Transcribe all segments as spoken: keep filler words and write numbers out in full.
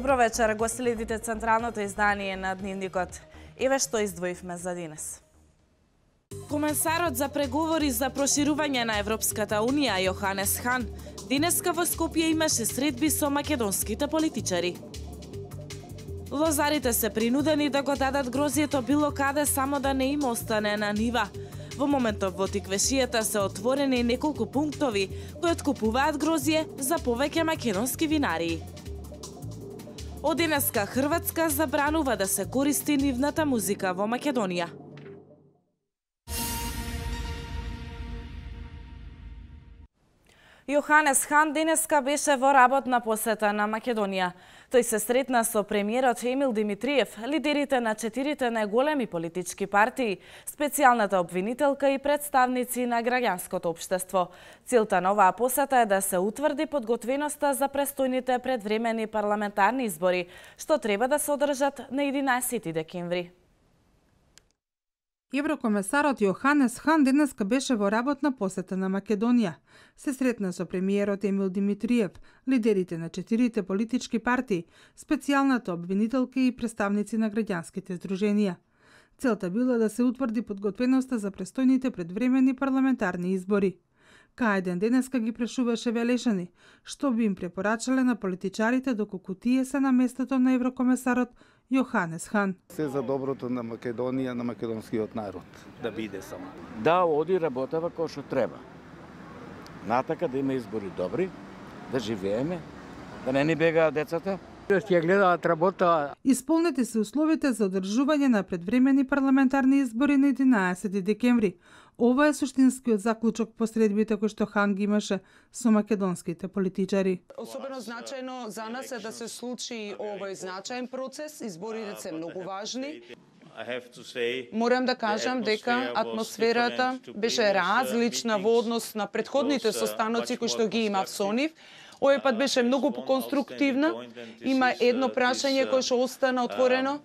Добро вечер, го следите централното издание на Дневникот. Еве што издвоивме за денес. Комесарот за преговори за проширување на Европската Унија Јоханес Хан денеска во Скопје имаше средби со македонските политичари. Лозарите се принудени да го дадат грозјето било каде само да не им остане на нива. Во моментов во Тиквешијата се отворени неколку пунктови кои откупуваат грозје за повеќе македонски винарии. Од денеска Хрватска забранува да се користи нивната музика во Македонија. Јоханес Хан денеска беше во работна посета на Македонија. Тој се сретна со премиерот Емил Димитриев, лидерите на четирите најголеми политички партии, специјалната обвинителка и представници на граѓанското општество. Целта на оваа посета е да се утврди подготвеноста за престојните предвремени парламентарни избори, што треба да се одржат на единаесети декември. Еврокомесарот Јоханес Хан денеска беше во работна посета на Македонија. Се сретна со премиерот Емил Димитриев, лидерите на четирите политички партии, специјалната обвинителка и представници на граѓанските здруженија. Целта била да се утврди подготвеноста за престојните предвремени парламентарни избори. Кај денеска ги прашуваше Велешани, што би им препорачале на политичарите доколку тие се на местото на еврокомесарот Јоханес Хан. Се за доброто на Македонија, на македонскиот народ, да биде само. Да оди работава кој што треба. Натака да има избори добри, да живееме, да не ни бегаат децата. Ќе гледаат работа. Исполнети се условите за одржување на предвремени парламентарни избори на единаесети декември. Ова е суштинскиот заклучок по средбите кои што Хан ги имаше со македонските политичари. Особено значајно за нас е да се случи овој значаен процес, изборите се многу важни. Морам да кажам дека атмосферата беше различна во однос на претходните состаноци кои што ги имав со нив. Овој пат беше многу поконструктивна. Има едно прашање кое што остана отворено.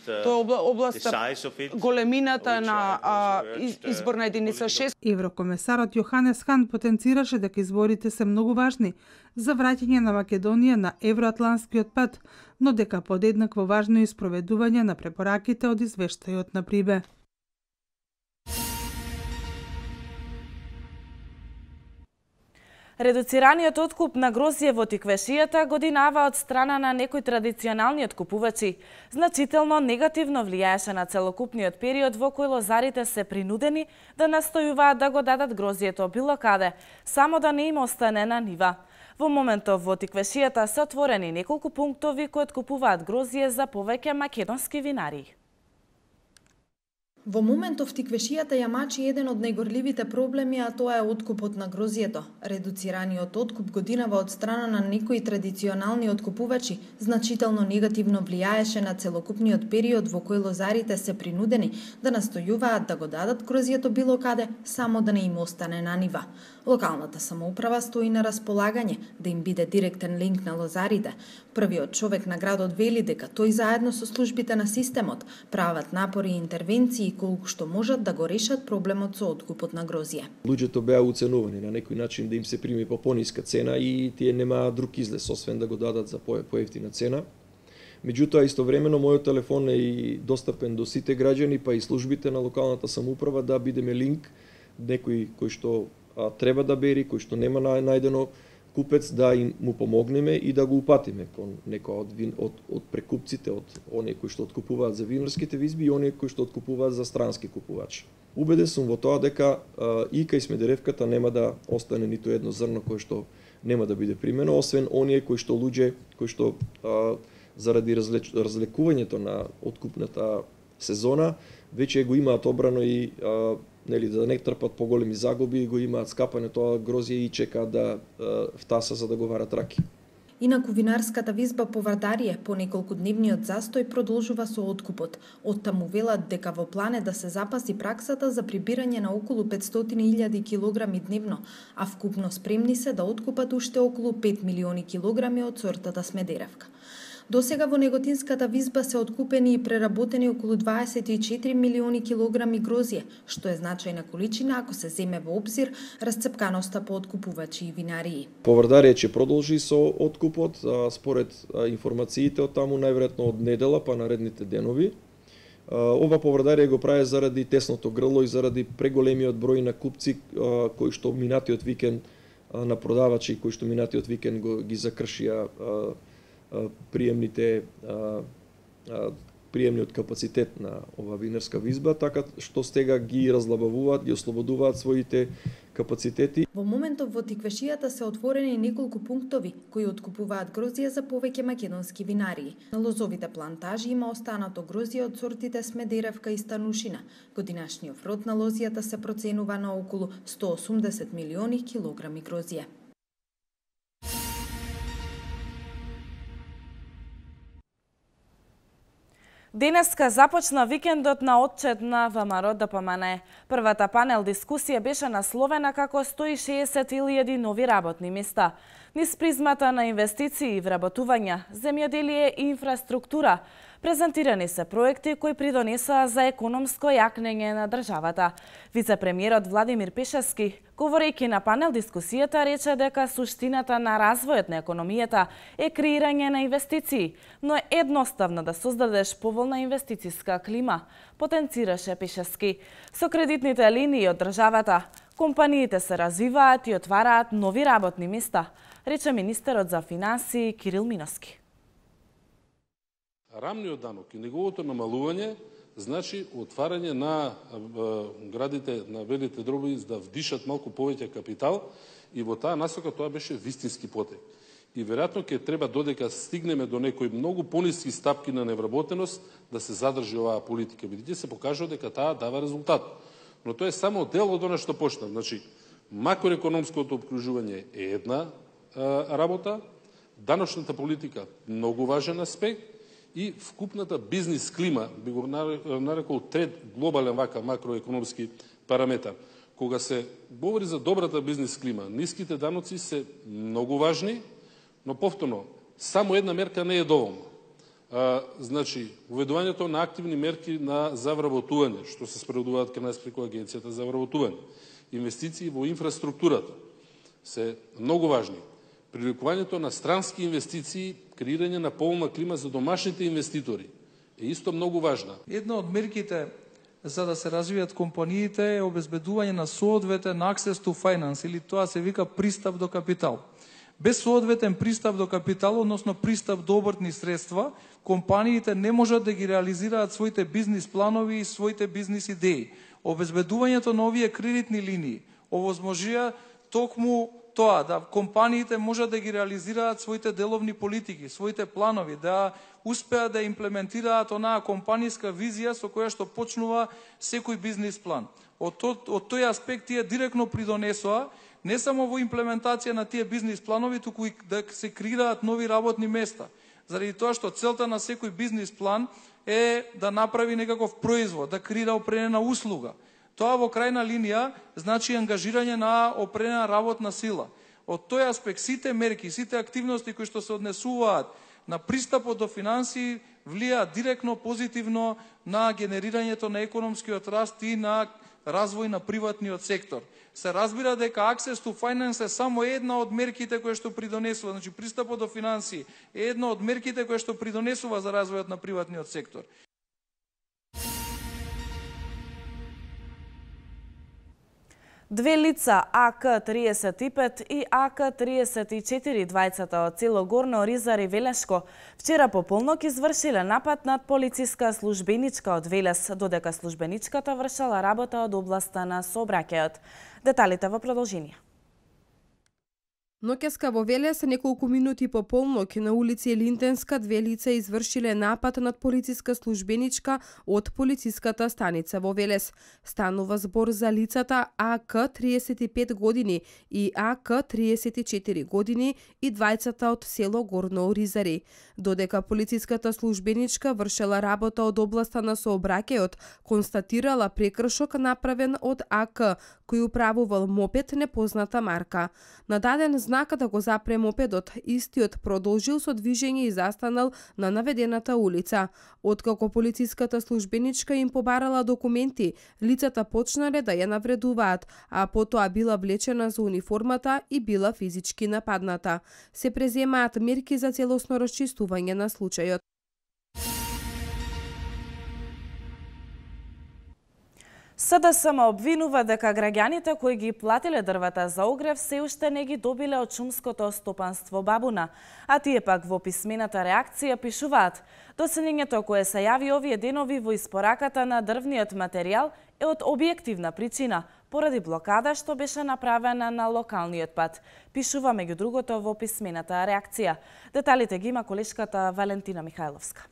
Тоа е областа големината на а, изборна единица шест. Еврокомесарот Јоханес Хан потенцираше дека изборите се многу важни за враќање на Македонија на евроатланскиот пат, но дека подеднакво важно и спроведување на препораките од извештајот на Прибе. Редуцираниот откуп на грозје во Тиквешијата годинава од страна на некои традиционални откупувачи значително негативно влијаеше на целокупниот период во кој лозарите се принудени да настојуваат да го дадат грозјето било каде, само да не им остане на нива. Во моментов во Тиквешијата се отворени неколку пунктови кои откупуваат грозје за повеќе македонски винарии. Во моментов Тиквешијата ја мачи еден од најгорливите проблеми, а тоа е откупот на грозјето. Редуцираниот откуп годинава од страна на некои традиционални откупувачи значително негативно влијаеше на целокупниот период во кој лозарите се принудени да настојуваат да го дадат грозјето било каде, само да не им остане на нива. Локалната самоуправа стои на располагање да им биде директен линк на лозарите. Првиот човек на градот вели дека тој заедно со службите на системот прават напори и интервенции колку што можат да го решат проблемот со откупот на грозје. Луѓето беа уценувани на некој начин да им се прими по пониска цена и тие немаа друг излез освен да го дадат за поевтина цена. Меѓутоа, истовремено, мојот телефон е и достапен до сите граѓани, па и службите на локалната самоуправа да бидеме линк, некој кој што а, треба да бери, кој што нема најдено купец, да им му помогнеме и да го упатиме кон некој од, вин, од, од прекупците, од оние кои што откупуваат за винарските визби и оние кои што откупуваат за странски купувачи. Убеден сум во тоа дека а, и кај Смедеревката нема да остане ниту едно зрно кое што нема да биде примено, освен оние кои што луѓе, кои што а, заради разлеч, разлекувањето на откупната сезона, веќе го имаат обрано и а, нели, да не трпат поголеми загуби, го имаат скапане тоа грозје и чекаат да а, втаса за да го варат раки. Инаку винарската визба по Вардарие по неколкудневниот застој продолжува со откупот. Оттаму велат дека во план е да се запази праксата за прибирање на околу петстотини илјади килограми дневно, а вкупно спремни се да откупат уште околу пет милиони килограми од сортата Смедеревка. Досега во Неготинската визба се откупени и преработени околу дваесет и четири милиони килограми грозје, што е значајна количина ако се земе во обзир расцепканоста по откупувачи и винарии. Поврдарие ќе продолжи со откупот, а, според а, информациите од таму најверојатно од недела па наредните денови. Ова поврдарие го прави заради тесното грло и заради преголемиот број на купци а, кои што минатиот викенд а, на продавачи кои што минатиот викенд го ги закршија а, а, приемните а, а, приемниот капацитет на ова винарска визба, така што стега ги разлабавуваат, ги ослободуваат своите капацитети. Во моментов во Тиквешијата се отворени неколку пунктови кои откупуваат грозје за повеќе македонски винарии. На лозовите плантажи има останато грозје од сортите Смедеревка и Станушина. Годинашниот род на лозијата се проценува на околу сто осумдесет милиони килограми грозје. Денеска започна викендот на отчет на ВМРО Д П М Н. Првата панел дискусија беше насловена како сто и шеесет илјади нови работни места. Низ призмата на инвестиции и вработувања, земјоделие и инфраструктура, презентирани се проекти кои придонесоа за економско јакнење на државата. Вице-премиерот Владимир Пешевски, говорејќи на панел дискусијата, рече дека суштината на развојот на економијата е креирање на инвестиции, но е едноставно да создадеш поволна инвестициска клима, потенцираше Пешевски. Со кредитните линии од државата, компаниите се развиваат и отвараат нови работни места, рече министерот за финансии Кирил Миноски. Рамниот данок и неговото намалување значи отварање на градите, на велите дроби да вдишат малку повеќе капитал и во таа насока тоа беше вистински потек. И веројатно ќе треба додека стигнеме до некои многу пониски стапки на невработеност да се задржи оваа политика, бидејќи се покажува дека таа дава резултат. Но тоа е само дел од она што почна. Значи, макроекономското обкружување е една а, работа, даночната политика многу важен аспект и вкупната бизнис клима, би го нарекол трет глобален вака макроекономски параметар. Кога се говори за добрата бизнис клима, ниските даноци се многу важни, но повторно, само една мерка не е доволна. А, значи, уведувањето на активни мерки на за вработување, што се спроведуваат кај нас преку Агенцијата за вработување, инвестиции во инфраструктурата се многу важни. Привлекувањето на странски инвестиции, креирање на поволна клима за домашните инвеститори е исто многу важна. Една од мерките за да се развијат компаниите е обезбедување на соодветен access to finance, или тоа се вика пристап до капитал. Без соодветен пристап до капитал, односно пристап до обртни средства, компаниите не можат да ги реализираат своите бизнис планови и своите бизнис идеи. Обезбедувањето на овие кредитни линии овозможија токму тоа да компаниите можат да ги реализираат своите деловни политики, своите планови, да успеат да имплементираат онаа компанијска визија со која што почнува секој бизнис план. Од, од, од тој аспект тие директно придонесоа не само во имплементација на тие бизнис планови, туку и да се креираат нови работни места. Заради тоа што целта на секој бизнис план е да направи некаков производ, да креира определена услуга. Тоа во крајна линија значи ангажирање на определена работна сила. Од тој аспект сите мерки, сите активности кои што се однесуваат на пристапот до финансии влијаат директно позитивно на генерирањето на економскиот раст и на развој на приватниот сектор. Се разбира дека access to finance е само една од мерките кои што придонесува, значи пристапот до финансии е една од мерките кои што придонесува за развојот на приватниот сектор. Две лица, А К триесет и пет и А К триесет и четири, двајцата од село Горно Оризари, Велешко, вчера по полнок извршиле напад над полициска службеничка од Велес, додека службеничката вршала работа од областа на сообраќајот. Деталите во продолжение. Ноќеска во Велес, неколку минути по полнок на улица Елинтенска, две лица извршиле напад над полициска службеничка од полициската станица во Велес. Станува збор за лицата А К триесет и пет години и А К триесет и четири години и двајцата од село Горно Оризари. Додека полициската службеничка вршела работа од областа на сообраќајот, констатирала прекршок направен од А К, кој управувал мопед непозната марка. На даден знак да го запре мопедот, истиот продолжил со движење и застанал на наведената улица. Откако полициската службеничка им побарала документи, лицата почнале да ја навредуваат, а потоа била влечена за униформата и била физички нападната. Се преземаат мерки за целосно расчистување на случајот. СДСМ обвинува дека граѓаните кои ги платиле дрвата за огрев се уште не ги добиле од шумското стопанство Бабуна, а тие пак во писмената реакција пишуваат: доселењето кое се јави овие денови во испораката на дрвниот материјал е од објективна причина, поради блокада што беше направена на локалниот пат. Пишува меѓу другото во писмената реакција. Деталите ги има колешката Валентина Михајловска.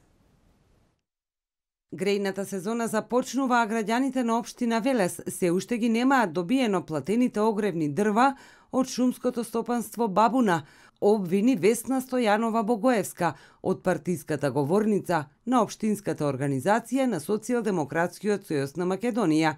Грејната сезона започнува, а граѓаните на општина Велес се уште ги немаат добиено платените огревни дрва од шумското стопанство Бабуна, обвини Весна Стојанова Богоевска од партиската говорница на општинската организација на Социјалдемократскиот сојуз на Македонија.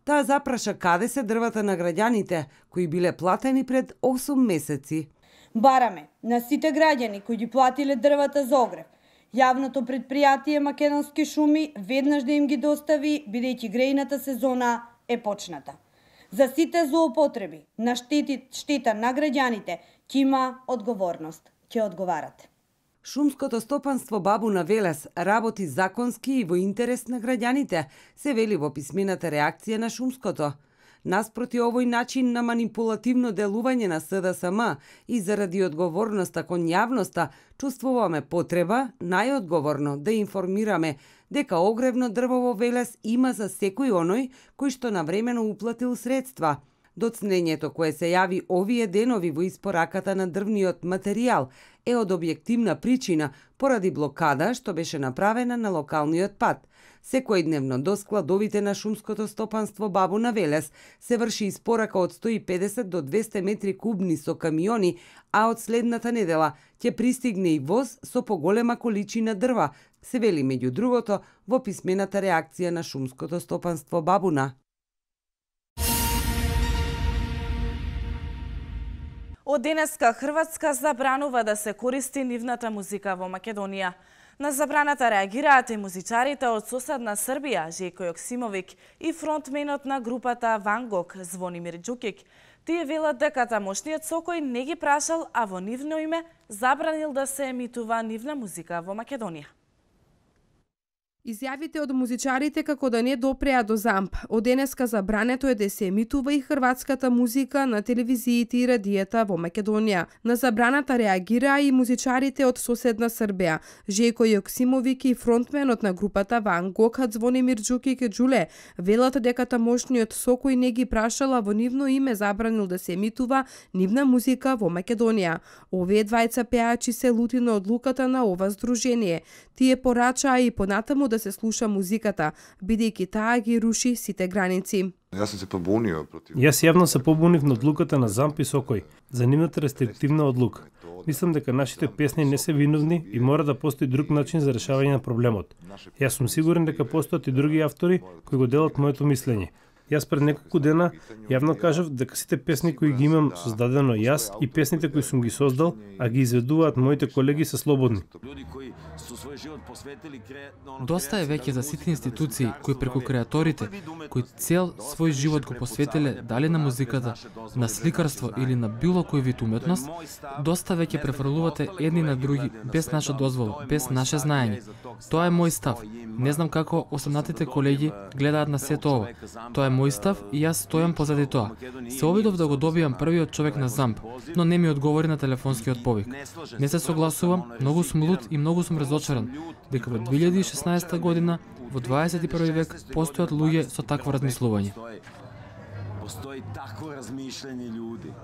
Таа запраша каде се дрвата на граѓаните кои биле платени пред осум месеци. Бараме на сите граѓани кои ги платиле дрвата за огрев, јавното предпријатие Македонски шуми веднаш да им ги достави, бидејќи грејната сезона е почната. За сите злоупотреби на штети, штета на граѓаните ќе има одговорност, ќе одговарате. Шумското стопанство Бабуна Велес работи законски и во интерес на граѓаните, се вели во писмената реакција на Шумското. Наспроти овој начин на манипулативно делување на СДСМ и заради одговорноста кон јавноста, чувствуваме потреба најодговорно да информираме дека огревно дрво во Велес има за секој оној кој што навремено уплатил средства. Доцнењето кое се јави овие денови во испораката на дрвниот материјал е од објективна причина поради блокада што беше направена на локалниот пат. Секојдневно до складовите на шумското стопанство Бабуна Велес се врши испорака од сто и педесет до двесте метри кубни со камиони, а од следната недела ќе пристигне и воз со поголема количина дрва, се вели меѓу другото во писмената реакција на шумското стопанство Бабуна. Од денеска Хрватска забранува да се користи нивната музика во Македонија. На забраната реагираат и музичарите од соседна Србија, Жејко Јоксимовик и фронтменот на групата Ван Гог, Звонимир Џукик. Тие велат дека тамошниот сокој не ги прашал, а во нивно име забранил да се емитува нивна музика во Македонија. Изјавите од музичарите како да не допреа до ЗАМП. Од денеска забрането е да се емитува и хрватската музика на телевизиите и радијата во Македонија. На забраната реагираа и музичарите од соседна Србија. Жејко Јоксимовик и фронтменот на групата Ван Гог, Звонимир Џукик Џуле, велат дека тамошниот сокој не ги прашала, во нивно име забранил да се емитува нивна музика во Македонија. Овие двајца пеачи се лути на одлуката на ова здружение. Тие порачаа и понатаму да се слуша музиката, бидејќи таа ги руши сите граници. Јас сум се побунio против. Јас јавно се побунив на одлуката на ЗАМП и Сокој за нивната рестриктивна одлука. Мислам дека нашите песни не се виновни и мора да постои друг начин за решавање на проблемот. Јас сум сигурен дека постојат и други автори кои го делат моето мислење. Јас пред неколку дена јавно кажав дека сите песни кои ги имам создадено јас и песните кои сум ги создал, а ги изведуваат моите колеги, се слободни. Доста е веќе за сите институции кои преку креаторите, кои цел свој живот го посветиле дали на музиката, на сликарство или на било кој вид уметност, доста веќе префрлувате едни на други без наша дозвола, без наше знаење. Тоа е мој став. Не знам како осамнатите колеги гледаат на сето ова. Тоа е мој став и јас стојам позади тоа. Се обидов да го добијам првиот човек на ЗАМП, но не ми одговори на телефонскиот повик. Не се согласувам, многу сум лут и многу сум разочаран дека во две илјади и шеснаесета година, во дваесет и први век, постојат луѓе со такво размислување. Постои такво размишљање људи.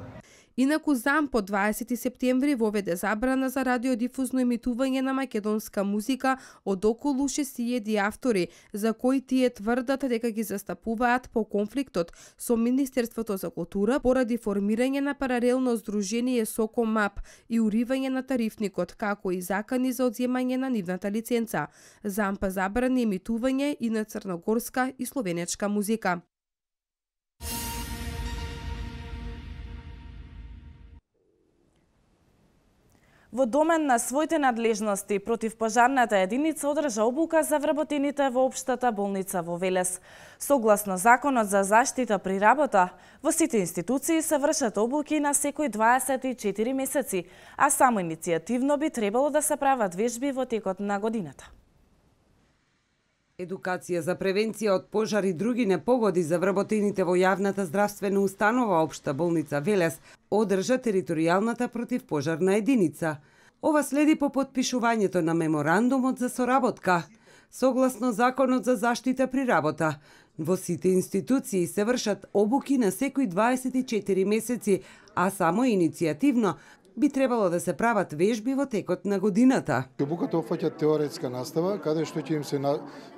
Инаку ЗАМП од дваесети септември воведе забрана за радиодифузно емитување на македонска музика од околу шест илјади автори, за кои тие тврдат дека ги застапуваат по конфликтот со Министерството за култура поради формирање на паралелно здружение Сокомап и уривање на тарифникот, како и закани за одземање на нивната лиценца. ЗАМП забрани емитување и на црногорска и словенечка музика. Во домен на своите надлежности, противпожарната единица одржа обука за вработените во општата болница во Велес. Согласно Законот за заштита при работа, во сите институции се вршат обуки на секој дваесет и четири месеци, а само иницијативно би требало да се прават вежби во текот на годината. Едукација за превенција од пожар и други непогоди за вработените во јавната здравствена установа Општа болница Велес одржа територијалната противпожарна единица. Ова следи по потпишувањето на меморандумот за соработка. Согласно Законот за заштита при работа, во сите институции се вршат обуки на секој дваесет и четири месеци, а само иницијативно би требало да се прават вежби во текот на годината. Обуката опфаќа теоретска настава, каде што ќе им се на,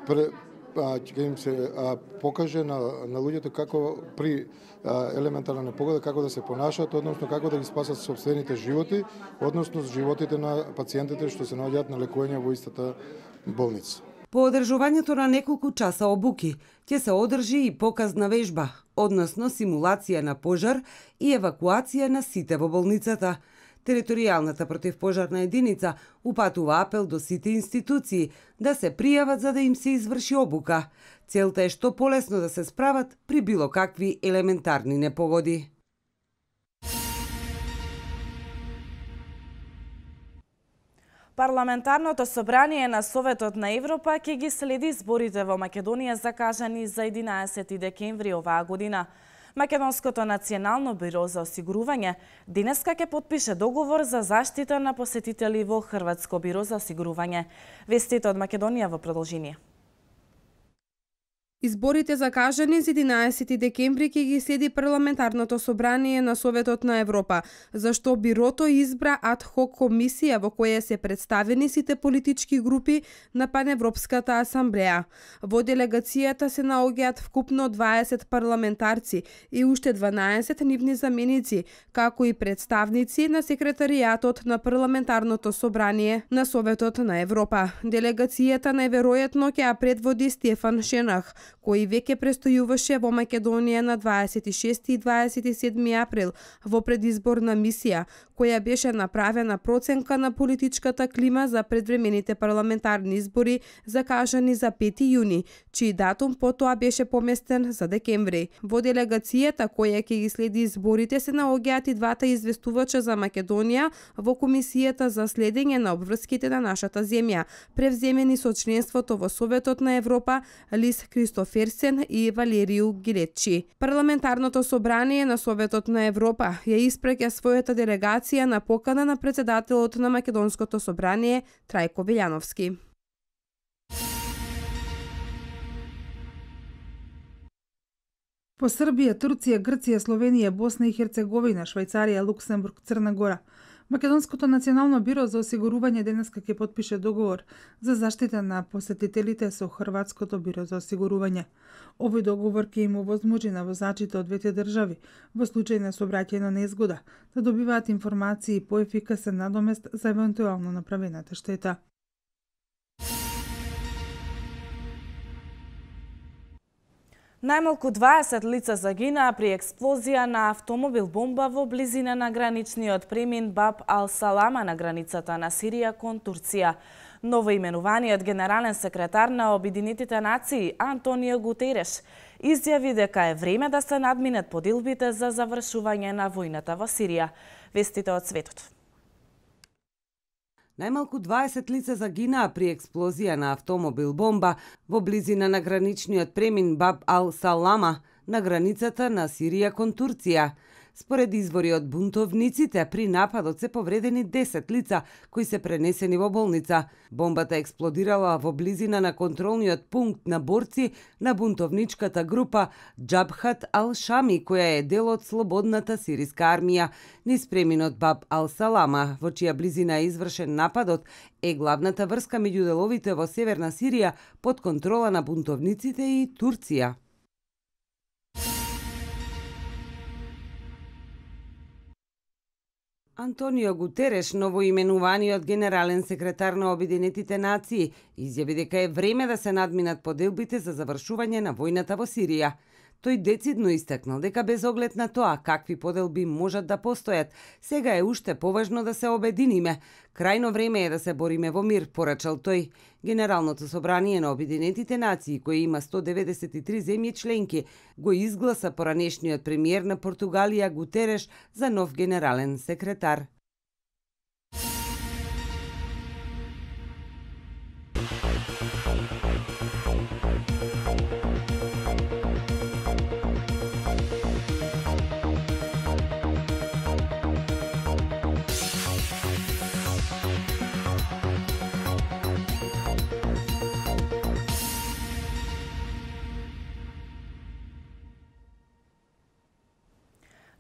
пре, а, ќе им се а, покаже на, на луѓето како при а, елементарна непогода како да се понашат, односно како да ги спасат сопствените животи, односно животите на пациентите што се наоѓаат на лекување во истата болница. По одржувањето на неколку часа обуки ќе се одржи и показна вежба, односно симулација на пожар и евакуација на сите во болницата. Територијалната противпожарна единица упатува апел до сите институции да се пријават за да им се изврши обука. Целта е што полесно да се справат при било какви елементарни непогоди. Парламентарното собрание на Советот на Европа ќе ги следи зборите во Македонија закажани за единаесети декември оваа година. Македонското национално бюро за осигурување денеска ќе потпише договор за заштита на посетители во Хрватско бюро за осигурување. Вестите од Македонија во продолжение. Изборите закажани за единаесети декември ќе ги следи Парламентарното собрание на Советот на Европа, зашто бирото избра ад-хок комисија во која се представени сите политички групи на Паневропската асамблеја. Во делегацијата се наоѓаат вкупно дваесет парламентарци и уште дванаесет нивни заменици, како и представници на секретаријатот на Парламентарното собрание на Советот на Европа. Делегацијата најверојатно ќе ја предводи Стефан Шенах, кој веќе престојуваше во Македонија на дваесет и шести и дваесет и седми април во предизборна мисија, која беше направена проценка на политичката клима за предвремените парламентарни избори закажани за пети јуни, чиј датум потоа беше поместен за декември. Во делегацијата која ќе ги следи изборите се наоѓаат и двата известувача за Македонија во Комисијата за следење на обврските на нашата земја, превземени со членството во Советот на Европа Лис Кристоферсен и Валерију Гилечи. Парламентарното собрание на Советот на Европа ја испраќа својата делегација на покана на председателот на Македонското собрание Трајко Велјановски. По Србија, Турција, Грција, Словенија, Босна и Херцеговина, Швајцарија, Луксембург, Црна Гора, Македонското национално бюро за осигурување денеска ќе потпише договор за заштита на посетителите со Хрватското бюро за осигурување. Овој договор ќе им овозможи на возачите од двете држави во случај на сообраќајна незгода да добиваат информации и поефикасен надомест за евентуално направената штета. Најмалку дваесет лица загинаа при експлозија на автомобил бомба во близина на граничниот премин Баб ал-Салама на границата на Сирија кон Турција. Новоименуваниот генерален секретар на Обединетите нации Антонио Гутереш изјави дека е време да се надминат поделбите за завршување на војната во Сирија. Вестите од светот. Најмалку дваесет лица загинаа при експлозија на автомобил бомба во близина на граничниот премин Баб ал-Салама на границата на Сирија кон Турција. Според извори од бунтовниците, при нападот се повредени десет лица кои се пренесени во болница. Бомбата експлодирала во близина на контролниот пункт на борци на бунтовничката група Џабхат ал-Шами, која е дел од слободната сириска армија. Низ преминот Баб ал-Салама, во чија близина е извршен нападот, е главната врска меѓу деловите во северна Сирија под контрола на бунтовниците и Турција. Антонио Гутереш, новоименуваниот генерален секретар на Обединетите нации, изјави дека е време да се надминат поделбите за завршување на војната во Сирија. Тој децидно истакнал дека без оглед на тоа какви поделби можат да постојат, сега е уште поважно да се обединиме. Крајно време е да се бориме во мир, порачал тој. Генералното собрание на Обединетите нации, кој има сто деветдесет и три земји членки, го изгласа поранешниот премиер на Португалија Гутереш за нов генерален секретар.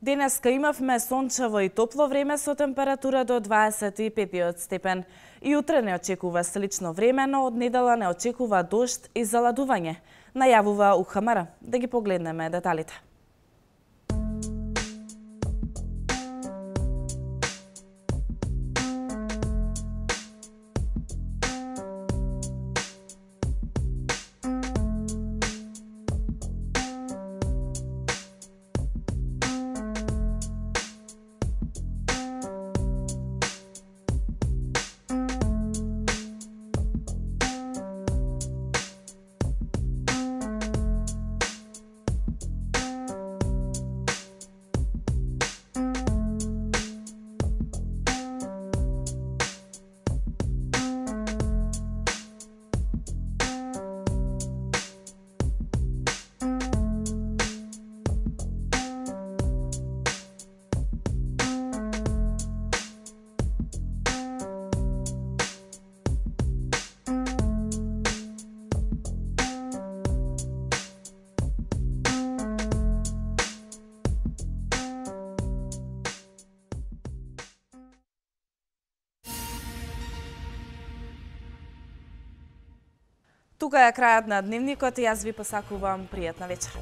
Денеска имавме сончево и топло време со температура до дваесет и пет степен. И утре не очекува слично време, но од недела не очекува дожд и заладување. Најавува УХМР. Да ги погледнеме деталите. Тука е крајот на дневникот и јас ви посакувам пријатна вечер.